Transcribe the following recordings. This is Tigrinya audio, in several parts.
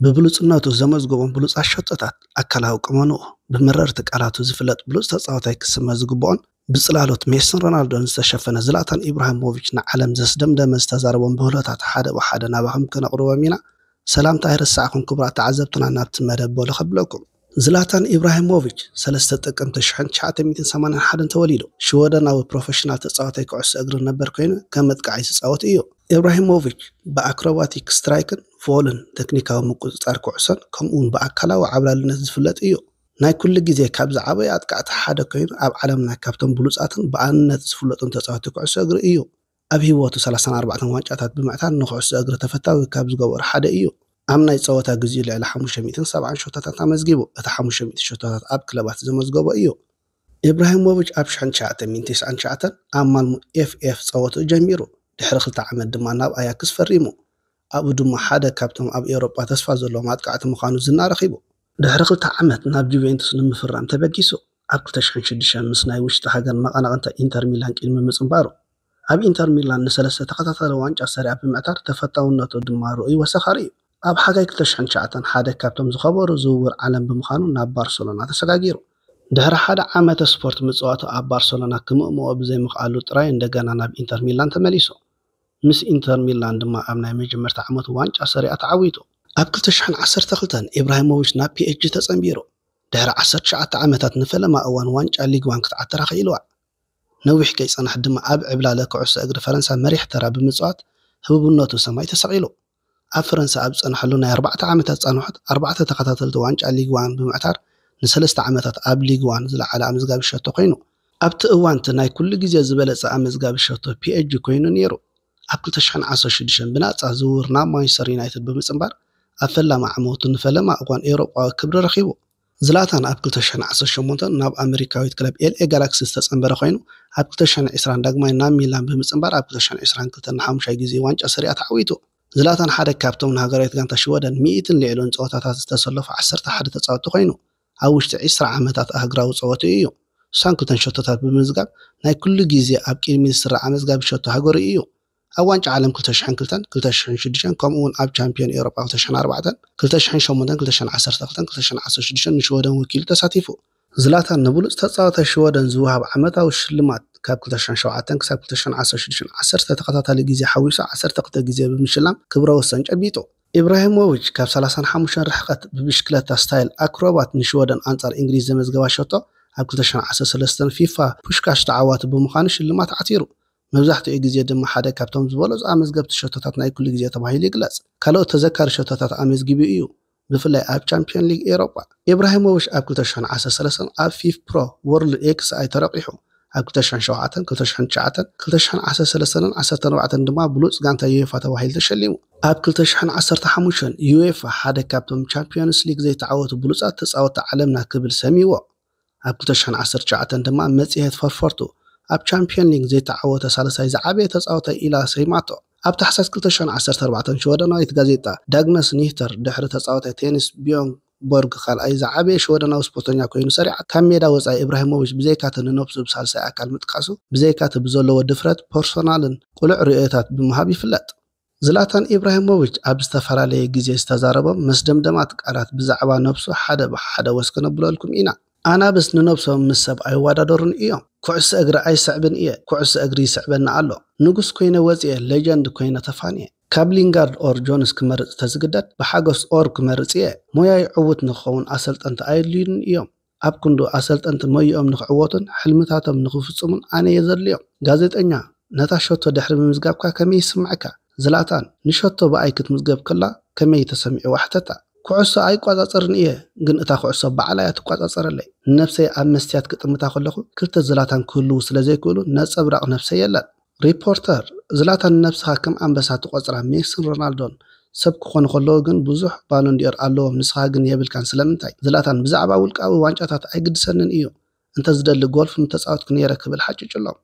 ብብሉጽነቱ ዘመዝገቦም ብሉጻት ሸቶታት፣ ኣካላዊ ቁመንኡ፣ ብመረርቲ ቃላቱ ዝፍለጥ ብሉጽ ተጻዋታይ ክስመ ዝግብኦን ብጽላሎት ሜስን ሮናልዶን ዝተሸፈነ ዝላታን ኢብራሂሞቪች ንዓለም ዘስደምደመ ዝተዛረቦም ብህሎታት ሓደ ብሓደ ናባኹም ከነቕርቦም ኢና። ሰላምታ ኣይረሳዕኹም ክቡራት ተዓዘብትና ናብቲ መደብ በሉ ከብለኩም። ዝላታን ኢብራሂሞቪች ሰለስተ ጥቅምቲ ሽሕን ትሽዓተ ሚእትን ሰማንያን ሓደን ተወሊዱ። ሽወደናዊ ፕሮፌሽናል ተጻዋታይ ኩዕሶ እግሪ ነበር ኮይኑ ከም መጥቃዓይ ዝጻወት እዩ። ኢብራሂሞቪች ብኣክሮባቲክ ስትራይክን ፎልን ቴክኒካዊ ምቁጽጻር ኩዕሶን ከምኡውን ብኣካላዊ ዓብላልነት ዝፍለጥ እዩ። ናይ ኩሉ ግዜ ካብ ዝዓበዩ ኣጥቃዕቲ ሓደ ኮይኑ ኣብ ዓለምና ካብቶም ብሉጻትን ብኣንነት ዝፍለጡን ተጻወቲ ኩዕሶ እግሪ እዩ። ኣብ ህይወቱ ሰላሳን ኣርባዕተን ዋንጫታት ብምዕታር ንኩዕሶ እግሪ ተፈታዊ ካብ ዝገበሩ ሓደ እዩ። ኣብ ናይ ጸወታ ግዜኡ ልዕሊ ሓሙሽተ ሚእትን ሰብዓን ሸቶታት ኣመዝጊቡ። እቲ ሓሙሽተ ሚእቲ ሸቶታት ኣብ ክለባት ዘመዝገቦ እዩ። ኢብራሂሞቪች ኣብ ሽሕን ትሽዓተ ሚእትን ተስዓን ትሽዓተን ኣብ ማልሞ ኤፍ ኤፍ ጸወትኡ ጀሚሩ። ድሕሪ ክልተ ዓመት ድማ ናብ ኣያክስ ፈሪሙ። ኣብኡ ድማ ሓደ ካብቶም ኣብ ኤውሮጳ ተስፋ ዘለዎም ኣጥቃዕቲ ምዃኑ ዝና ረኺቡ። ድሕሪ ክልተ ዓመት ናብ ጁቬንቱስ ንምፍራም ተበጊሱ። ኣብ ክልተ ሽሕን ሽዱሽተን ምስ ናይ ውሽጢ ሃገር መቐናቕንታ ኢንተር ሚላን ቅድሚ ምጽንባሩ፣ ኣብ ኢንተር ሚላን ንሰለስተ ተኸታታሊ ዋንጫ ሰሪኣ ብምዕታር ተፈታውነቱ ድማ ርኡይ ወሰኻሪ እዩ። ኣብ ሓጋይ ክልተ ሽሕን ትሽዓተን ሓደ ካብቶም ዝኸበሩ ዝውውር ዓለም ብምዃኑ ናብ ባርሰሎና ተሰጋጊሩ። ድሕሪ ሓደ ዓመተ ስፖርት ምጽዋቱ ኣብ ባርሰሎና ክምእምኦ ብዘይምኽኣሉ ጥራይ እንደገና ናብ ኢንተር ሚላን ተመሊሱ። ምስ ኢንተር ሚላን ድማ ኣብ ናይ መጀመርታ ዓመቱ ዋንጫ ሰሪኣ ተዓዊቱ። ኣብ ክልተ ሽሕን ዓሰርተ ክልተን ኢብራሂሞቪች ናብ ፒ ኤስ ጂ ተጸንቢሩ። ድሕሪ ዓሰርተ ትሽዓተ ዓመታት ንፈለማ እዋን ዋንጫ ሊግ ዋን ክትዓትራ ክኢልዋ። ነዊሕ ከይጸንሐ ድማ ኣብ ዕብላለ ኩዕሶ እግሪ ፈረንሳ መሪሕ ተራ ብምጽዋት ህቡብነቱ ሰማይ ተሰቒሉ። ኣብ ፈረንሳ ኣብ ዝጸንሐሉ ናይ ኣርባዕተ ዓመታት ጻንሖት ኣርባዕተ ተኸታተልቲ ዋንጫ ሊግ ዋን ብምዕታር ንሰለስተ ዓመታት ኣብ ሊግ ዋን ዝለዓለ ኣመዝጋቢ ሸቶ ኮይኑ። ኣብቲ እዋን እቲ ናይ ኩሉ ግዜ ዝበለጸ ኣመዝጋቢ ሸቶ ፒ ኤስ ጂ ኮይኑ ነይሩ። ኣብ ክልተ ሽሕን ዓሰርተ ሽዱሽተን ብናጻ ዝውውር ናብ ማንቸስተር ዩናይትድ ብምጽንባር ኣብ ፈላማ ዓመቱ ንፈለማ እዋን ኤውሮጳዊ ክብሪ ረኺቡ። ዝላታን ኣብ ክልተ ሽሕን ዓሰርተ ሸሞንተን ናብ ኣመሪካዊት ክለብ ኤል ኤ ጋላክሲ ዝተጸንበረ ኮይኑ፣ ኣብ ክልተ ሽሕን ዕስራን ዳግማይ ናብ ሚላን ብምጽንባር ኣብ ክልተ ሽሕን ዕስራን ክልተን ንሓሙሻይ ግዜ ዋንጫ ሰሪኣ ተዓዊቱ። ዝላታን ሓደ ካብቶም ንሃገራዊት ጋንታ ሽወደን ሚእትን ልዕሊኡን ጸወታታት ዝተሰለፉ ዓሰርተ ሓደ ተጻወትቲ ኮይኑ፣ ኣብ ውሽጢ ዕስራ ዓመታት ኣህግራዊ ጸወትኡ እዩ። ስሳን ክልተን ሸቶታት ብምምዝጋብ ናይ ኩሉ ግዜ ኣብ ቅድሚት ዝስራዕ ኣመዝጋቢ ሸቶ ሃገሩ እዩ። ኣብ ዋንጫ ዓለም ክልተ ሽሕን ክልተን፣ ክልተ ሽሕን ሽዱሽተን ከምኡ እውን ኣብ ቻምፒዮን ኤውሮጳ ክልተ ሽሕን ኣርባዕተን፣ ክልተ ሽሕን ሸሞንተን፣ ክልተ ሽሕን ዓሰርተ ክልተን፣ ክልተ ሽሕን ዓሰርተ ሽዱሽተን ንሽወደን ወኪሉ ተሳቲፉ። ዝላታን ንብሉጽ ተጻዋታይ ሽወደን ዝወሃብ ዓመታዊ ሽልማት ካብ ክልተ ሽሕን ሸውዓተን ክሳብ ክልተ ሽሕን ዓሰርተ ሽዱሽተን ዓሰርተ ተኸታታሊ ግዜ ሓዊሱ ዓሰርተ ክልተ ግዜ ብምሽላም ክብረ ወሰን ጨቢጡ። ኢብራሂሞቪች ካብ ሰላሳን ሓሙሽተን ርሕቀት ብብሽክለታ ስታይል ኣክሮባት ንሽወደን ኣንጻር እንግሊዝ ዘመዝገባ ሸቶ ኣብ ክልተ ሽሕን ዓሰርተ ሰለስተን ፊፋ ፑሽካሽ ተዓዋቲ ብምዃኑ ሽልማት ዓቲሩ። መብዛሕትኡ ግዜ ድማ ሓደ ካብቶም ዝበለጹ ኣመዝገብቲ ሸቶታት ናይ ኩሉ ግዜ ተባሂሉ ይግለጽ። ካልኦት ተዘካሪ ሸቶታት ኣመዝጊቡ እዩ፣ ብፍላይ ኣብ ቻምፒዮን ሊግ ኤውሮጳ። ኢብራሂሞቪች ኣብ ክልተ ሽሕን ዓሰርተ ሰለስተን ኣብ ፊፍ ፕሮ ወርልድ ኤክስ ኣይ ተረቂሑ። ኣብ ክልተ ሽሕን ሸውዓተን፣ ክልተ ሽሕን ትሽዓተን፣ ክልተ ሽሕን ዓሰርተ ሰለስተን ዓሰርተ ኣርባዕተን ድማ ብሉጽ ጋንታ ዩኤፋ ተባሂሉ ተሸሊሙ። ኣብ ክልተ ሽሕን ዓሰርተ ሓሙሽተን ዩኤፋ ሓደ ካብቶም ቻምፒዮንስ ሊግ ዘይተዓወቱ ብሉጻት ተጻወትቲ ዓለምና ክብል ሰሚዎ። ኣብ ክልተ ሽሕን ዓሰርተ ትሽዓተን ድማ መጽሔት ፈርፈርቱ ኣብ ቻምፒዮን ሊግ ዘይተዓወተ ሳልሳይ ዝዓበየ ተጻዋታይ ኢላ ሰይማቶ። ኣብ ታሕሳስ ክልተ ሽሕን ዓሰርተ ኣርባዕተን ሽወደናዊት ጋዜጣ ዳግነስ ኒህተር ድሕሪ ተጻዋታይ ቴኒስ ቢዮንግ ቦርግ ካልኣይ ዝዓበየ ሽወደናዊ ስፖርተኛ ኮይኑ ሰሪዓ። ካብ ሜዳ ወጻኢ ኢብራሂሞቪች ብዘይካቲ ንነብሱ ብሳልሳይ ኣካል ምጥቃሱ፣ ብዘይካቲ ብዘለዎ ድፍረት ፐርሶናልን ቅሉዕ ርእዮታት ብምሃብ ይፍለጥ። ዝላታን ኢብራሂሞቪች ኣብ ዝተፈላለየ ግዜ ዝተዛረቦም መስደምደማት ቃላት ብዛዕባ ነብሱ ሓደ ብሓደ ወስ ከነብለልኩም ኢና። ኣናብስ ንነብሶም ምስ ሰብ ኣይወዳደሩን እዮም። ኩዕሶ እግሪ ኣይስዕብን እየ፣ ኩዕሶ እግሪ ይስዕበኒ ኣሎ። ንጉስ ኮይነ ወጽየ፣ ሌጀንድ ኮይነ ተፋንየ። ካብ ሊንጋርድ ኦር ጆንስ ክመርጽ ተዝግደድ ብሓጎስ ኦር ክመርጽ እየ። ሞያይ ዕዉት ንክኸውን ኣሰልጠንቲ ኣየድልዩንን እዮም። ኣብ ክንዱ ኣሰልጠንቲ ሞይኦም ንክዕወቱን ሕልምታቶም ንክፍጽሙን ኣነ እየ ዘድልዮም። ጋዜጠኛ፣ ነታ ሸቶ ድሕሪ ምምዝጋብካ ከመይ ይስምዓካ? ዝላታን፣ ንሸቶ ብኣይ ክትምዝገብ ከላ ከመይ ተሰሚዕዋ ሕተታ። ኩዕሶ ኣይቋጻጸርን እየ፣ ግን እታ ኩዕሶ ባዕላ እያ ትቋጻጸረለይ። ንነብሰይ ኣብ መስትያት ክጥምታ ከለኹ ክልተ ዝላታን ክህልዉ ስለ ዘይክእሉ ነጸብራቕ ነብሰይ የለን። ሪፖርተር፣ ዝላታን ንነብስኻ ከም ኣንበሳ ትቖጽራ ሜስን ሮናልዶን ሰብ ክኾኑ ከለዉ ግን ብዙሕ ባሎንዲዮር ኣለዎም፣ ንስኻ ግን የብልካን ስለምንታይ? ዝላታን፣ ብዛዕባ ውልቃዊ ዋንጫታት ኣይግድሰንን እዩ፣ እንተ ዝደሊ ጎልፍ ምተጻወትኩ ነይረ ክብል ሓጭጭሎም።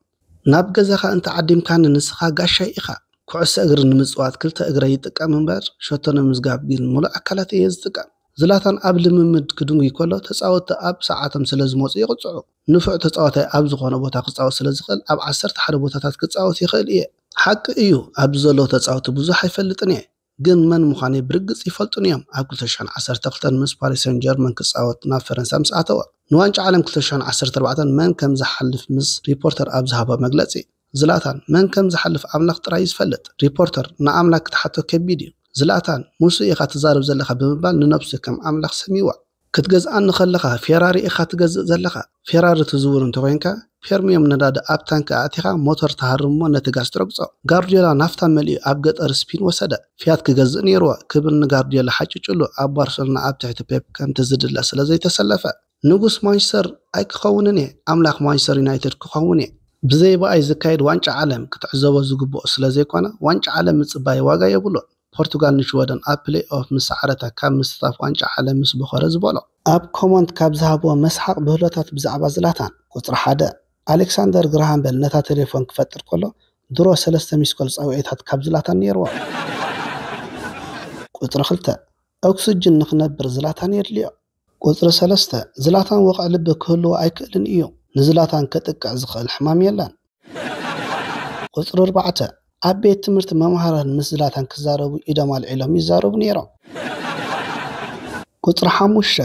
ናብ ገዛኻ እንተ ዓዲምካኒ ንስኻ ጋሻይ ኢኻ። ኩዕሶ እግሪ ንምጽዋት ክልተ እግረይ ይጥቀም እምበር ሸቶ ንምዝጋብ ግን ምሉእ ኣካላት እየ ዝጥቀም። ዝላታን ኣብ ልምምድ ክድንጉይ ከሎ ተጻወትቲ ኣብ ሰዓቶም ስለ ዝመጹ ይቕጽዑ። ንፉዕ ተጻዋታይ ኣብ ዝኾነ ቦታ ክጻወት ስለ ዝኽእል ኣብ ዓሰርተ ሓደ ቦታታት ክጻወት ይኽእል እየ። ሓቂ እዩ ኣብዚ ዘለዉ ተጻወትቲ ብዙሕ ኣይፈልጥን እየ። ግን መን ምዃነይ ብርግጽ ይፈልጡኒ እዮም። ኣብ ክልተ ሽሕን ዓሰርተ ክልተን ምስ ፓሪስ ሰን ጀርመን ክጻወት ናብ ፈረንሳ ምስ ኣተወ፣ ንዋንጫ ዓለም ክልተ ሽሕን ዓሰርተ ኣርባዕተን መን ከም ዝሓልፍ ምስ ሪፖርተር ኣብ ዝሃቦ መግለጺ፣ ዝላታን፣ መን ከም ዝሓልፍ ኣምላኽ ጥራይ እዩ ዝፈልጥ። ሪፖርተር፣ ንኣምላኽ ክትሓቶ ከቢድ እዩ። ዝላታን፣ ምስኡ ኢኻ ትዛረብ ዘለኻ ብምባል ንነብሱ ከም ኣምላኽ ሰምይዋ። ክትገዝኣኒ ከለኻ ፌራሪ ኢኻ ትገዝእ ዘለኻ። ፌራሪ ትዝውር እንተኾይንካ፣ ፕሪምየም ነዳዲ ኣብ ታንኪ ኣእቲኻ ሞተር ትሃርም እሞ ነቲ ጋዝ ትረግጾ። ጋርዲዮላ ናፍታ መሊኡ ኣብ ገጠር ስፒን ወሰደ። ፊያት ክገዝእ ነይርዎ ክብል ንጋርዲዮላ ሓጭጭሉ ኣብ ባርሰሎና ኣብ ትሕቲ ፔፕ ከምቲ ዝድለ ስለ ዘይተሰለፈ። ንጉስ ማንቸስተር ኣይክኸውንን እየ፣ ኣምላኽ ማንቸስተር ዩናይትድ ክኸውን እየ። ብዘይ ብኣይ ዝካየድ ዋንጫ ዓለም ክትዕዘቦ ዝግብኦ ስለ ዘይኮነ፣ ዋንጫ ዓለም ምጽባይ ዋጋ የብሉን። ፖርቱጋል ንሽወደን ኣብ ፕሌይ ኦፍ ምስ ሰዓረታ ካብ ምስታፍ ዋንጫ ዓለም ምስ ቦኸረ ዝበሎ። ኣብ ኮመንት ካብ ዝሃብዎ መስሓቕ ብህሎታት ብዛዕባ ዝላታን። ቁጽሪ ሓደ፣ ኣሌክሳንደር ግራሃም በል ነታ ቴሌፎን ክፈጥር ከሎ ድሮ ሰለስተ ሚስኮል ጻውዒታት ካብ ዝላታን ነይርዎ። ቁጽሪ ክልተ፣ ኦክስጅን ንኽነብር ዝላታን የድልዮ። ቁጽሪ ሰለስተ፣ ዝላታን ወቕዒ ልቢ ክህልዎ ኣይክእልን እዩ። ንዝላታን ከጥቅዕ ዝኽእል ሕማም የለን። ቁጽሪ ኣርባዕተ፣ ኣብ ቤት ትምህርቲ መምሃራን ምስ ዝላታን ክዛረቡ ኢዶም ኣልዒሎም ይዛረቡ ነይሮም። ቁጽሪ ሓሙሽተ፣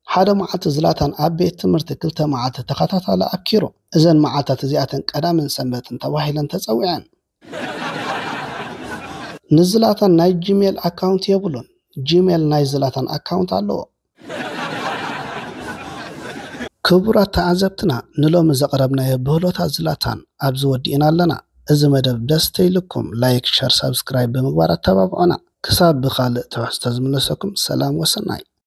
ሓደ መዓልቲ ዝላታን ኣብ ቤት ትምህርቲ ክልተ መዓልቲ ተኸታታሊ ኣብኪሩ። እዘን መዓልታት እዚኣተን ቀዳምን ሰንበትን ተባሂለን ተጸዊዐን። ንዝላታን ናይ ጂሜል ኣካውንት የብሉን። ጂሜል ናይ ዝላታን ኣካውንት ኣለዎ። ክቡራት ተዓዘብትና፣ ንሎሚ ዘቕረብናዮ ብህሎታት ዝላታን ኣብዚ ወዲእና ኣለና። እዚ መደብ ደስ ተይልኩም፣ ላይክ፣ ሸር፣ ሳብስክራይብ ብምግባር ኣተባብዑና። ክሳብ ብኻልእ ትሕዝቶ ዝምለሰኩም፣ ሰላም ወሰናይ።